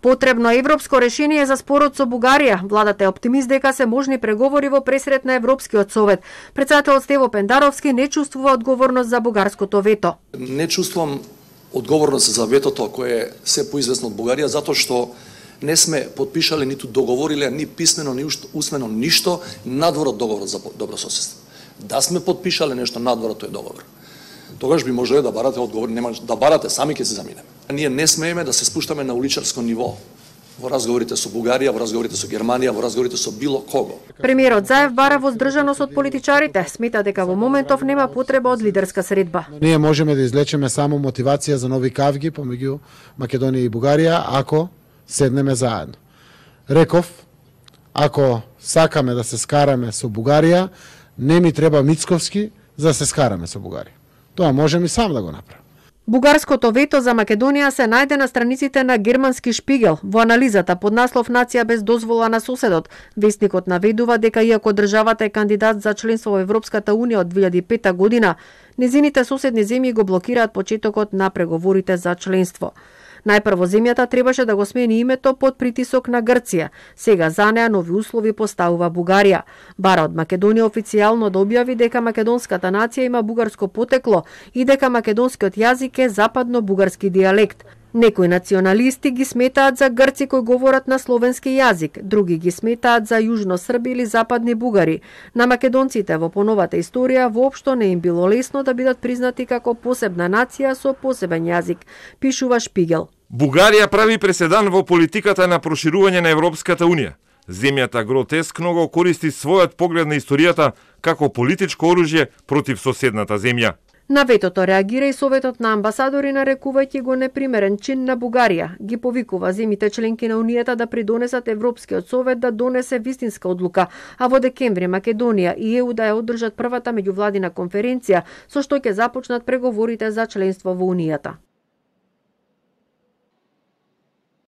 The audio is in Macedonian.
Потребно е европско решение за спорот со Бугарија. Владата е оптимист дека се можни преговори во пресрет на Европскиот совет. Претседателот Стево Пендаровски не чувствува одговорност за бугарското вето. Не чувствувам одговорност за ветото кое се поизвестно од Бугарија, затоа што не сме подпишале ниту договориле ни писмено ни усмено ништо надвор од договорот за добрососедство. Да сме подпишале нешто надвор од тој договор, тогаш би можеле да барате одговор, нема да барате, сами ќе се заминеме. Ние не смееме да се спуштаме на уличарско ниво во разговорите со Бугарија, во разговорите со Германија, во разговорите со било кого. Премиерот Заев бара воздржаност од политичарите, смета дека во моментов нема потреба од лидерска средба. Ние можеме да излечеме само мотивација за нови кавги помеѓу Македонија и Бугарија ако седнеме заедно. Реков, ако сакаме да се скараме со Бугарија, не ми треба Мицковски за да се скараме со Бугарија. Тоа можем и сам да го направам. Бугарското вето за Македонија се најде на страниците на германски Шпигел. Во анализата под наслов Нација без дозвола на соседот, весникот наведува дека иако државата е кандидат за членство во Европската унија од 2005 година, незините соседни земји го блокираат почетокот на преговорите за членство. Најпрво земјата требаше да го смени името под притисок на Грција. Сега за неа нови услови поставува Бугарија. Бара од Македонија официјално да објави дека македонската нација има бугарско потекло и дека македонскиот јазик е западно-бугарски дијалект. Некои националисти ги сметаат за грци кои говорат на словенски јазик, други ги сметаат за јужно срби или западни бугари. На македонците во поновата историја воопшто не им било лесно да бидат признати како посебна нација со посебен јазик, пишува Шпигел. Бугарија прави преседан во политиката на проширување на Европската унија. Земјата гротескно го користи својот поглед на историјата како политичко оружје против соседната земја. На ветото реагира и Советот на амбасадори, нарекувајќи го непримерен чин на Бугарија. Ги повикува земјите членки на Унијата да придонесат Европскиот совет да донесе вистинска одлука, а во декември Македонија и ЕУ да ја одржат првата меѓувладина конференција со што ќе започнат преговорите за членство во Унијата.